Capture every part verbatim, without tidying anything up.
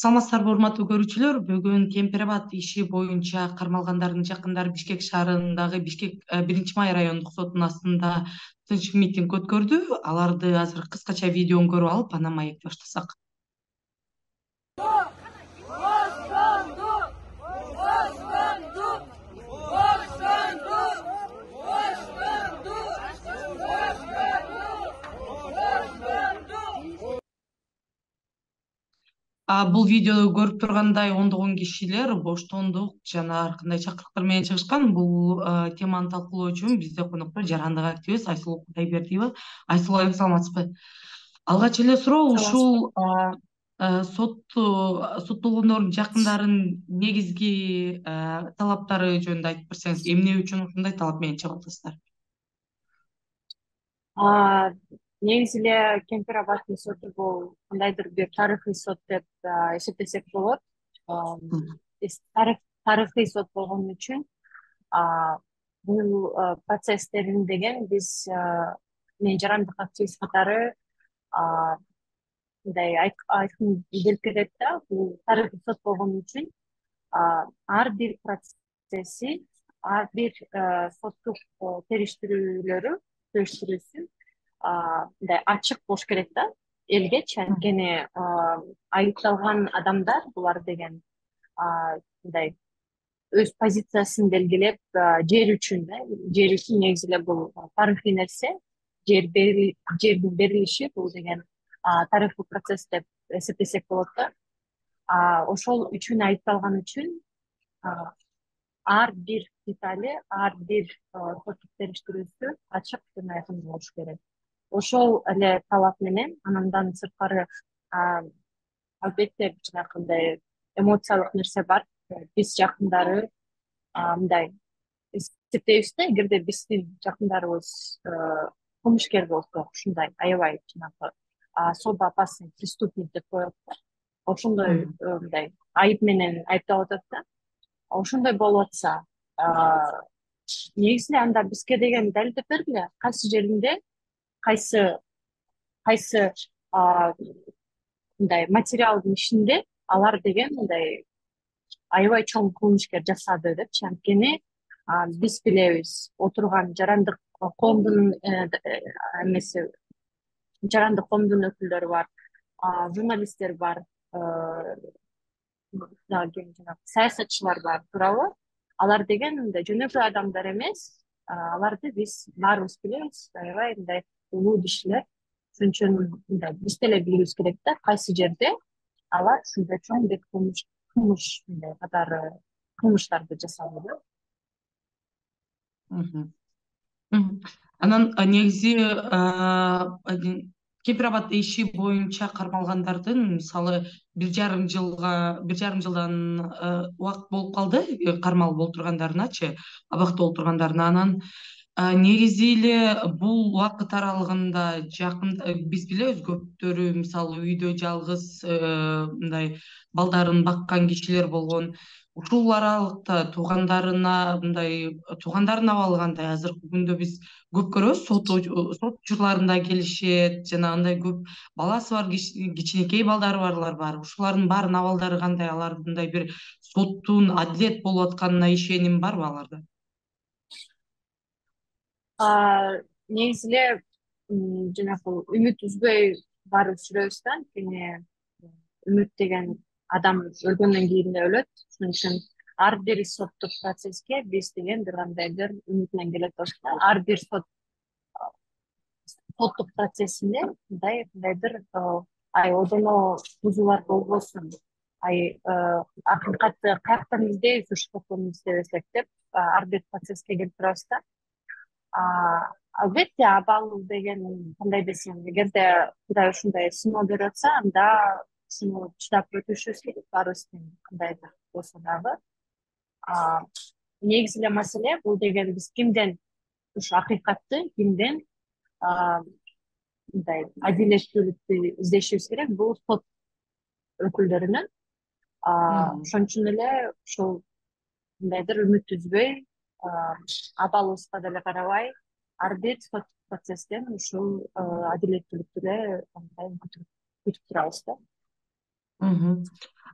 Саламатсыздарбы, урматтуу көрүүчүлөр. Бүгүн Кемпир Абад иши боюнча кармалгандардын жакындары Бишкек шаарындагы Бишкек биринчи май райондук сотунун астында тынч митинг өткөрдү. Аларды азыр кыскача видеон көрүп алып, анан маекти баштасак. Бул видеоду көрүп тургандай ондогон кишилер боштондук жана ар кандай чакырыктар менен чыгышкан. Бул теманы талкуулоо үчүн бизде коноктор жарандык активист Айсулуу Кудайбердиева. Айсулуу айым, саламатсызбы? Алгач эле суроо, ушул сот соттолгондордун жакындарынын негизги талаптары жөнүндө айтып берсеңиз, эмне үчүн ушундай талап менен чыгып атасыздар? Негизи эле Кемпир Абаддын соту бул кандайдыр бир тарыхый сот деп эсептесек болот. Тарыхый сот болгон үчүн бул процесстерин деген биз мен жарандык активист катары мындай айкын билип кетет да, бул тарыхый сот болгон үчүн ар бир процесси, ар бир соттук териштирүүлөрү териштирүүсү мындай ачык болуш керек да элгечи. Анткени айыпталган адамдар булар деген мындай өз позициясын белгилеп, жер үчүн да жер үчүн негизи эле бул тарыхый нерсе, жердин берилиши бул деген тарыхый процесс деп эсептесек болот да. Ошол үчүн айыпталган үчүн ар бир детали, ар бир соттук териштирүүсү ачык жана айкын болуш керек. Ошол эле талап менен андан сырткары албетте жанагындай эмоциялык нерсе бар. Биз жакындары мындай эсептейбиз да, эгерде биздин жакындарыбыз кылмышкер болсо, ушундай аябай жанагы особо опасный преступник деп коет да, ошондой мындай айып менен айыпталып атат да. Ошондой болуп атса, негизи эле анда бизге деген далилдеп бергиле, кайсы жеринде кайсы кайсы мындай материалдын ичинде алар деген мындай аябай чоң кылмышкер жасады депчи. Анткени биз билебиз, отурган жарандык коомдун эмеси, жарандык коомдун өкүлдөрү бар, журналисттер бар, саясатчылар бар, туурабы? Алар деген мындай жөнөкөй адамдар эмес. Аларды биз баарыбыз билебиз, аябай мындай улуу кишилер. Ошон үчүн мындай биз деле билүүбүз керек да, кайсы жерде алар ушундай чоң бир кылмыш кылмыш мындай катары кылмыштарды жасады да. Анан негизи Кемпир Абад иши боюнча кармалгандардын мисалы бир жарым жылга бир жарым жылдан убакыт болуп калды кармалып олтургандарыначы, абакта олтургандарына. Анан негизи эле бул убакыт аралыгында жакын биз билебиз, көптөрү мисалы үйдө жалгыз мындай балдарын баккан кишилер болгон. Ушул аралыкта туугандарына мындай туугандардын абалы кандай? Азыркы күндө биз көп көрөбүз, сот сот учурларында келишет, жанагындай көп баласы бар, кичинекей балдары барлар бар. Ушулардын баарынын абалдары кандай? Алардындай бир соттун адилет болуп атканына ишеним барбы аларда? Негизи эле жанагы үмүт үзбөй барыбыз жүрөбүз да. Анткени үмүт деген адам өлгөндөн кийин эле өлөт. Ошон үчүн ар бир соттук процесске биз деген бир кандайдыр үмүт менен келе атабыз да. Ар бир сот соттук процессинде мындай кандайдыр ай одоно бузуулар болбосун, ай акыйкатты каяктан издейбиз, ушул соттон издебесек деп ар бир процесске келип турабыз да. Албетте абал деген кандай десем, эгерде Кудай ушундай сыноо берип атса, анда ушуну чыдап өтүшүбүз керек баарыбыздын кандайдыр болсо дагы. Негизи эле маселе бул деген биз кимден ушу акыйкатты, кимден мындай адилеттүүлүктү издешибиз керек, бул сот өкүлдөрүнөн. Ошон үчүн эле ушул мындайдыр үмүт үзбөй, абалыбызга деле карабай, ар бир сот процесстен ушул адилеттүүлүктү эле күтүп турабыз да.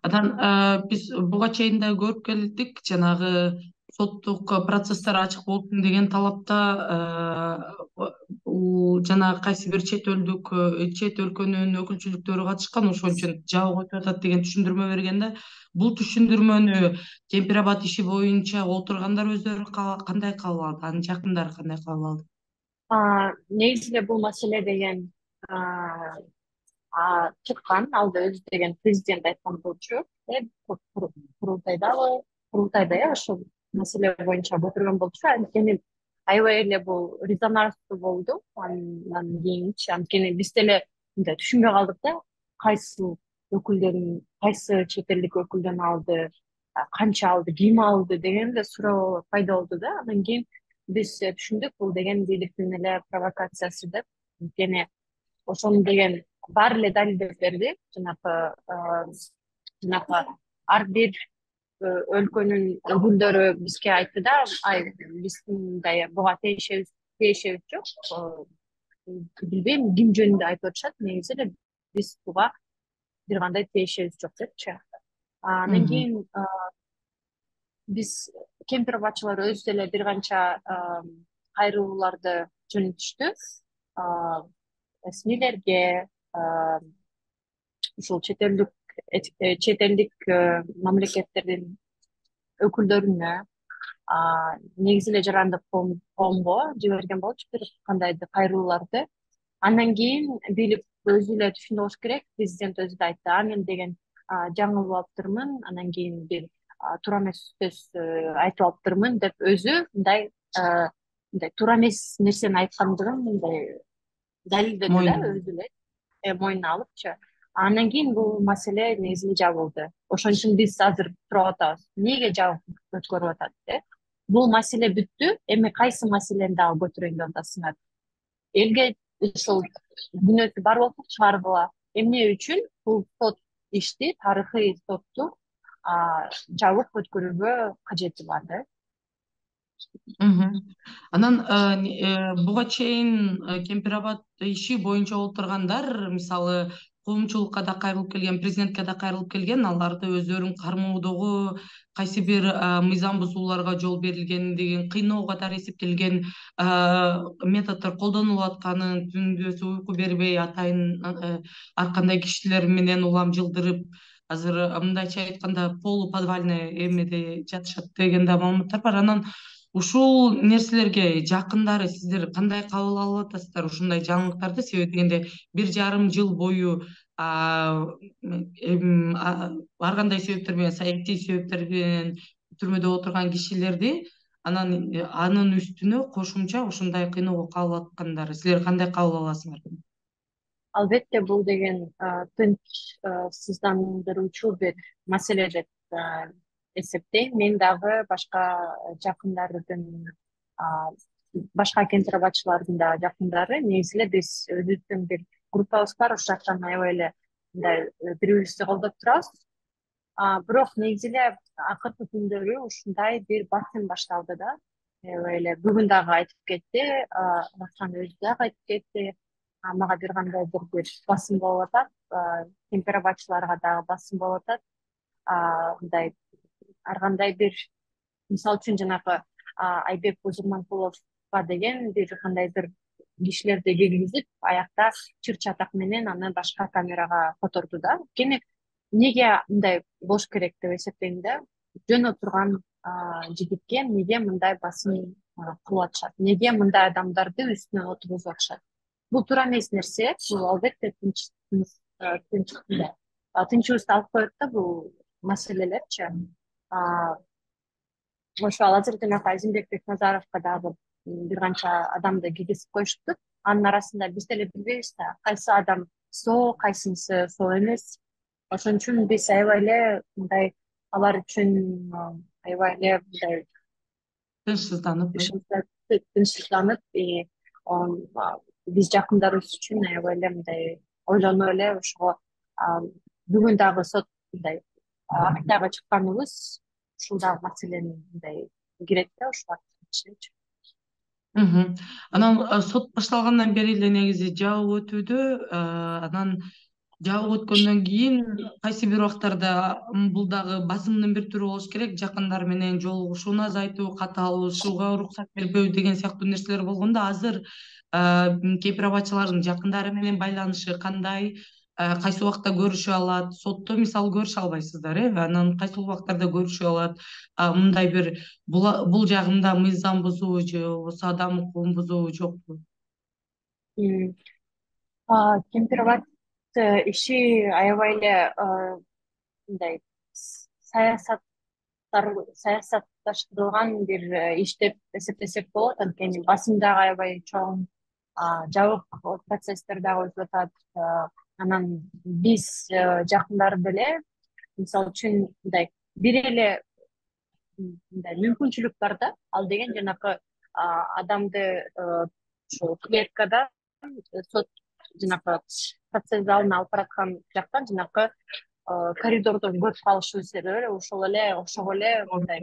Анан биз буга чейин да көрүп келдик, жанагы соттук процесстер ачык болсун деген талапта бул жанагы кайсы бир чет элдик чет өлкөнүн өкүлчүлүктөрү катышкан, ошон үчүн жабык өтүп атат деген түшүндүрмө берген да. Бул түшүндүрмөнү Кемпир Абад иши боюнча отургандар өздөрү кандай кабыл алды, анын жакындары кандай кабыл алды? Негизи эле бул маселе деген чыккан, алды өзү деген президент айткан болчу, курултайдабы, курултайда э ошол маселе боюнча отурган болчу. Анткени аябай эле бул резонанстуу болду андан кийинчи. Анткени биз деле мындай түшүнбөй калдык да, кайсы өкүлдөрүн, кайсы чет элдик өкүлдөн алды, канча алды, ким алды деген эле суроо пайда болду да. Андан кийин биз түшүндүк, бул деген бийликтин эле провокациясы деп. Анткени ошону деген баары эле далилдеп берди. Жанакы жанакы ар бир өлкөнүн өкүлдөрү бизге айтты да, ай биз мындай буга тиешебиз тиешебиз жок. Билбейм ким жөнүндө айтып атышат, негизи эле биз буга бир кандай тиешебиз жок депчи. Андан кийин биз Кемпир Абадчылар өзү деле бир канча кайрылууларды жөнөтүштү. Эсмилерге, ушул чет элдик чет элдик мамлекеттердин өкүлдөрүнө, негизи эле жарандык коомго жиберген болчу бир кандайдыр кайрылууларды. Андан кийин бийлик өзү эле түшүндү болуш керек, президент өзү да айтты, мен деген жаңылып алыптырмын, андан кийин бир туура эмес сөз айтып алыптырмын деп өзү мындай мындай туура эмес нерсени айткандыгын мындай далилдеди да, өзү эле мойнуна алыпчы. Андан кийин бул маселе негизи эле жабылды. Ошон үчүн биз азыр туруп атабыз. Эмнеге жабык өткөрүп атат деп? Бул маселе бүттү, эми кайсы маселени дагы көтөрөйүн деп атасыңар? Элге ушул күнөөсү бар болсо чыгаргыла. Эмне үчүн бул сот ишти, тарыхый сотту жабык өткөрүүгө кажети бар да. Анан буга чейин Кемпир Абад иши боюнча отургандар, мисалы, коомчулукка да кайрылып келген, президентке да кайрылып келген, аларды өздөрүн кармоодогу кайсы бир мыйзам бузууларга жол берилгендигин, кыйноо катары эсептелген методдор колдонулуп атканын, түндөсү уйку бербей атайын ар кандай кишилер менен улам жылдырып, азыр мындайча айтканда полуподвальный эмеде жатышат деген да маалыматтар бар. Анан ушул нерселерге жакындары сиздер кандай кабыл алып атасыздар, ушундай жаңылыктарды? Себеби дегенде бир жарым жыл бою ар кандай себептер менен, саясий себептер менен түрмөдө отурган кишилерди анан анын үстүнө кошумча ушундай кыйноого кабыл аткандары силер кандай кабыл аласыңар? Албетте бул деген тынчсыздандыруучу бир маселе деп эсептейм. Мен дагы башка жакындардын, башка Кемпир Абадчылардын да жакындары, негизи эле биз өзүбүздүн бир группабыз бар, ошол жактан аябай эле мындай бири бирибизди колдоп турабыз. Бирок негизи эле акыркы күндөрү ушундай бир басым башталды да. Аябай эле бүгүн дагы айтып кетти, Раушан өзү дагы айтып кетти. Мага бир кандайдыр бир басым болуп атат, Кемпир Абадчыларга дагы басым болуп атат. Мындай ар кандай бир, мисалы үчүн жанагы Айбек Бузурманкуловго деген бир кандайдыр кишилерди киргизип, аякта чыр чатак менен аны башка камерага которду да. Анткени эмнеге мындай болуш керек деп эсептейм да. Жөн отурган жигитке эмнеге мындай басым кылып атышат? Эмнеге мындай адамдарды үстүнөн отургузуп атышат? Бул туура эмес нерсе. Бул албетте тынчыбызды алып коет да бул маселелерчи. Ошол азыр жанагы Азимбек Бекназаровго дагы бир канча адамды киргизип коюшту. Анын арасында биз деле билбейбиз да, кайсы адам соо, кайсынысы соо эмес. Ошон үчүн биз аябай эле мындай алар үчүн аябай эле мындай тынчсызданып тынчсызданып биз жакындарыбыз үчүн аябай эле мындай ойлонуп эле ошого бүгүн дагы сот мындай актайга чыкканыбыз ушул дагы маселени мындай кирет да ушуга. Анан сот башталгандан бери эле негизи жабык өтүүдө. Анан жабык өткөндөн кийин кайсы бир убактарда бул дагы басымдын бир түрү болуш керек, жакындар менен жолугушууну азайтуу, катталышууга уруксат бербөө деген сыяктуу нерселер болгондо азыр кей-пробациялардын жакындары менен байланышы кандай, кайсы убакта көрүшүп алат, сотто мисалы көрүшө албайсыздар, э анан кайсы убактарда көрүшүп алат, мындай бир бул жагында мыйзам бузуу же болбосо адам укугун бузуу жокпу? Кемпирбат иши аябай эле мындай саясаттар саясатташтырылган бир иш деп эсептесек болот. Анткени басым дагы аябай чоң, жабык процесстер дагы өтүп атат. Анан биз жакындар деле мисалы үчүн мындай бир эле мындай мүмкүнчүлүк бар да, ал деген жанакы адамды ушул клеткада сот жанакы процесс залына алып бараткан жактан жанакы коридордон көрүп калышыбыз эле ошол эле окшоп эле мындай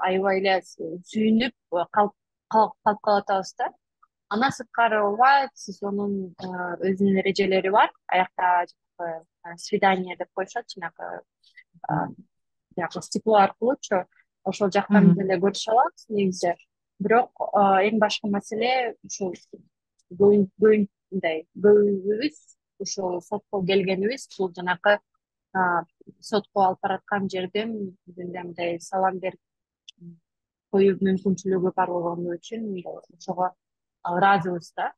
аябай эле сүйүнүп калып калатабыз да. Андан сырткары ооба, сезондун өзүнүн эрежелери бар. Аякта жанакы свидание деп коюшат, жанакы жанакы стекло аркылуучу ошол жактан деле көрүшө алабыз негизи. Бирок эң башкы маселе ушул мындай көбүбүз ушул сотко келгенибиз бул жанакы сотко алып бараткан жерден деле мындай салам берип коюу мүмкүнчүлүгү бар болгону үчүн ошого ыраазыбыз да.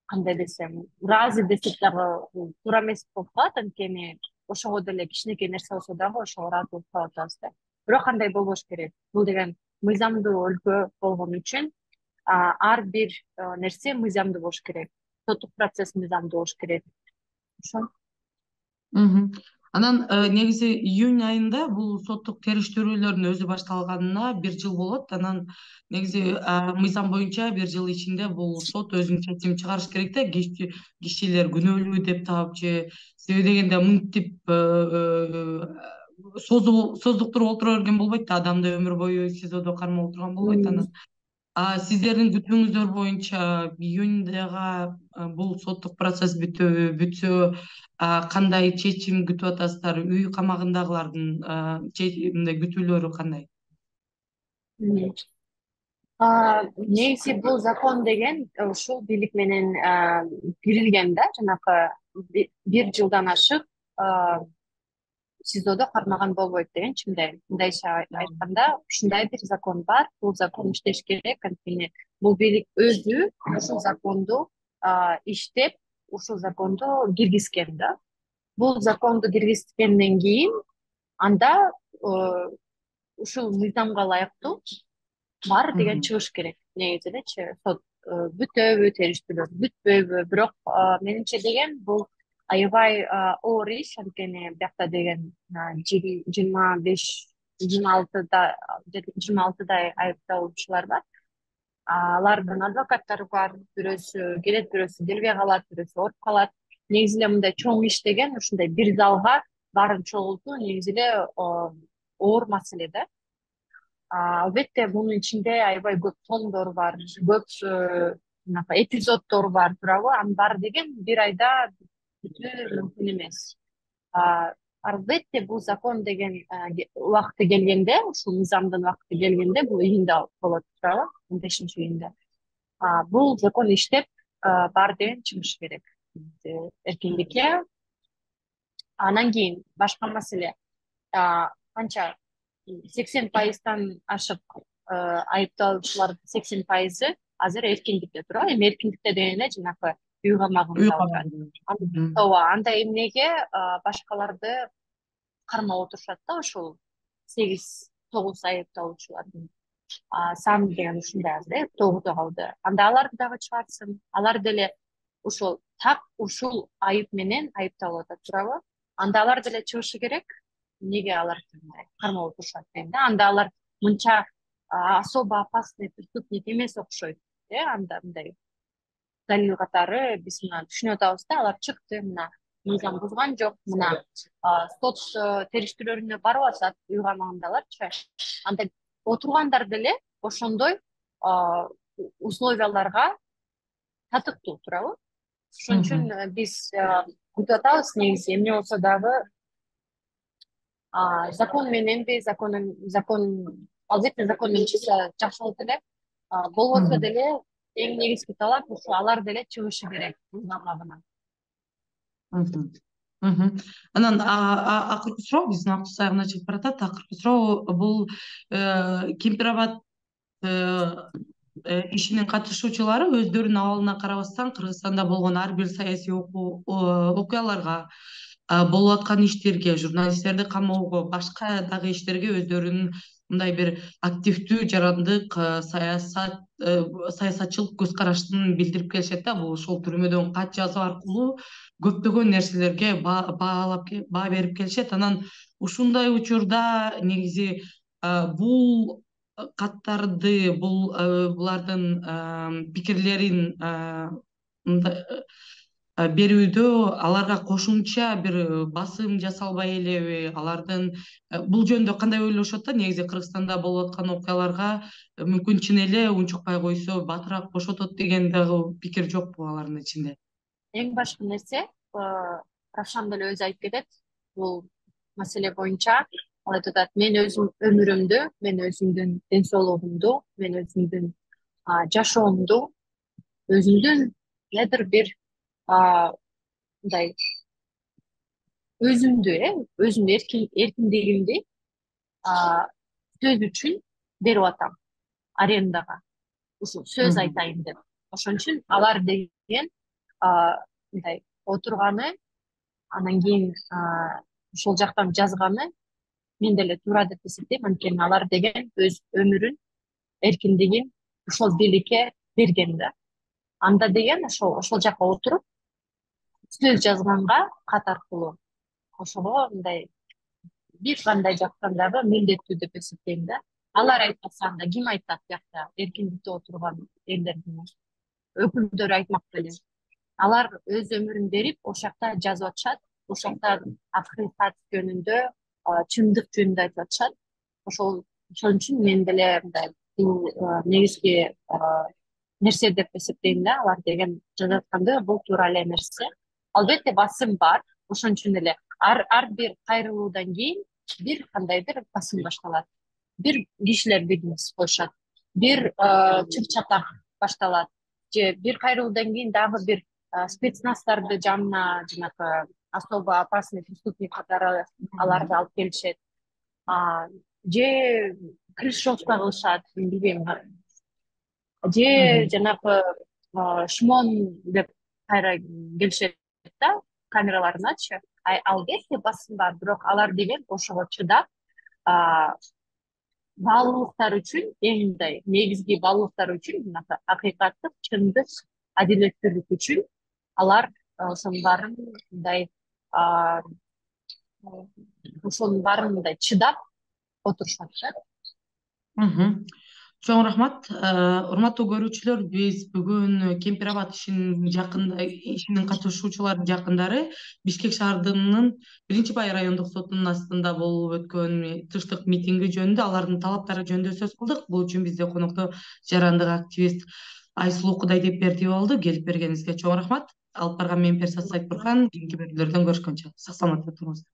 Кандай десем, ыраазы десек дагы туура эмес болуп калат, анткени ошого деле кичинекей нерсе болсо дагы ошого ыраазы болуп калып атабыз да. Бирок андай болбош керек. Бул деген мыйзамдуу өлкө болгон үчүн ар бир нерсе мыйзамдуу болуш керек. Соттук процесс мыйзамдуу болуш керек. Ошо. Анан негизи июнь айында бул соттук териштирүүлөрдүн өзү башталганына бир жыл болот. Анан негизи мыйзам боюнча бир жыл ичинде бул сот өзүнүн чечимин чыгарыш керек да, кишилер күнөөлүү деп таап же себеби дегенде мынтип создуктуруп олтура берген болбойт да, адамды өмүр бою СИЗОдо кармап отурган болбойт. Анан сиздердин күтүүңүздөр боюнча июньдага бул соттук процесс бүтөбү, бүтсө кандай чечим күтүп атасыздар? Үй камагындагылардын мындай күтүүлөрү кандай? Негизи бул закон деген ушул бийлик менен кирилген да, жанакы бир жылдан ашык СИЗОдо кармаган болбойт дегенчи, мындай мындайча айтканда ушундай бир закон бар. Бул закон иштеш керек, анткени бул бийлик өзү ушул законду иштеп, ушул законду киргизген да. Бул законду киргизгенден кийин анда ушул мыйзамга ылайыктуу бар деген чыгыш керек. Негизи элечи, сот бүтөбү, териштирүүлөр бүтпөйбү, бирок менимче деген бул аябай оор иш, анткени биякта деген жыйырма беш жыйырма алтыда жыйырма алтыдай айыпталуучулар бар. Алардын адвокаттары бар, бирөөсү келет, бирөөсү келбей калат, бирөөсү ооруп калат. Негизи эле мындай чоң иш деген ушундай бир залга баарын чогултуу негизи эле оор маселе да. Албетте мунун ичинде аябай көп томдор бар, көп эпизоддор бар, туурабы? Анын баары деген бир айда бүтүү мүмкүн эмес. Албетте бул закон деген убакыты келгенде, ушул мыйзамдын убакыты келгенде, бул июнда болот, туурабы? он бешинчи июнда. Бул закон иштеп, баары деген чыгыш керек эркиндикке. Анан кийин башка маселе, канча сексен пайыздан ашык айыпталуучулардын сексен пайызы азыр эркиндикте, туурабы? Эми эркиндикте деген эле жанакы үй камагында отурат. Ооба, андай эмнеге башкаларды кармап отурушат да, ушул сегиз тогуз айыпталуучулардын саны деген ушундай азыр, э, тогузо калды. Анда аларды дагы чыгарсын, алар деле ушул так ушул айып менен айыпталып атат, туурабы? Анда алар деле чыгышы керек. Эмнеге алар кармап отурушат дейм да. Анда алар мынча особо опасный преступник эмес окшойт, э, анда мындай далил катары биз мына түшүнүп атабыз да, алар чыкты, мына мыйзам бузган жок, мына сот териштирүүлөрүнө барып атат, үй камагындаларчы. Анда отургандар деле ошондой условияларга татыктуу, туурабы? Ошон үчүн биз күтүп атабыз негизи эмне болсо дагы закон мененби закон закон албетте закон менен чыкса жакшы болот эле. Болбосо деле эң негизги талап ушу алар деле чыгышы керек бул маалабынан. Анан акыркы суроо, биздин убактыбыз аягына чыгып баратат. Акыркы суроо бул Кемпир Абад ишинин катышуучулары өздөрүнүн абалына карабастан Кыргызстанда болгон ар бир саясий окуяларга, болуп аткан иштерге, журналисттерди камоого, башка дагы иштерге өздөрүнүн мындай бир активдүү, жарандык саясат саясатчылык көз карашын билдирип келишет да. Бул ошол түрмөдөн кат жазуу аркылуу көптөгөн нерселерге баалап баа берип келишет. Анан ушундай учурда негизи бул каттарды, бул булардын пикирлерин берүүдө аларга кошумча бир басым жасалбай элеби? Алардын бул жөнүндө кандай ойлошот да? Негизи Кыргызстанда болуп аткан окуяларга мүмкүн чын эле унчукпай койсо батыраак бошотот деген дагы пикир жокпу алардын ичинде? Эң башкы нерсе, Равшан деле өзү айтып кетет бул маселе боюнча. Ал айтып атат, мен өзүм өмүрүмдү, мен өзүмдүн ден соолугумду, мен өзүмдүн жашоомду, өзүмдүн недир бир мындай өзүмдү, э, өзүмдүн эркиндигимди сөз үчүн берип атам арендага. Ушул сөз айтайын деп. Ошон үчүн алар деген мындай отурганы, анан кийин ошол жактан жазганы мен деле туура деп эсептейм. Анткени алар деген өз өмүрүн, эркиндигин ушул бийликке берген да. Анда деген ошол ошол жакка отуруп сөз жазганга кат аркылуу ошого мындай бир кандай жактан дагы милдеттүү деп эсептейм да. Алар айтпаса анда ким айтат биякта эркиндикте отурган элдердин өкүлдөрү айтмак беле. Алар өз өмүрүн берип ошол жакта жазып атышат, ошол жакта акыйкат жөнүндө, чындык жөнүндө айтып атышат. Ошол ошон үчүн мен деле мындай бул негизги нерсе деп эсептейм да. Алар деген жазып атканды бул туура эле нерсе. Албетте басым бар. Ошон үчүн эле ар ар бир кайрылуудан кийин бир кандайдыр басым башталат. Бир кишилер бизнес коюшат, бир чыр-чатак башталат, же бир кайрылуудан кийин дагы бир спецназтарды жанына, жанакы особо опасный преступник катары аларды алып келишет, же крышовка кылышат, билбейм, же жанакы шмон деп кайра келишет да, камераларыначы. Албетте басым бар, бирок алар деген ошого чыдап, баалуулуктар үчүн, эң мындай негизги баалуулуктар үчүн, жанакы акыйкаттык, чындык, адилеттүүлүк үчүн алар ошонун баарын мындай ошонун баарын мындай чыдап отурушат да. Чоң рахмат. Урматтуу көрүүчүлөр, биз бүгүн Кемпир Абад ишинин жакында ишинин катышуучуларынын жакындары Бишкек шаарынын биринчи бай райондук сотунун астында болуп өткөн тынчтык митинги жөнүндө, алардын талаптары жөнүндө сөз кылдык. Бул үчүн бизде конокто жарандык активист Айсулуу Кудайдепбердиева болду. Келип бергениңизге чоң рахмат. Алып барган мен Персат Сайтбурхан. Кийинки берүүлөрдөн көрүшкөнчө сак саламатта туруңуздар.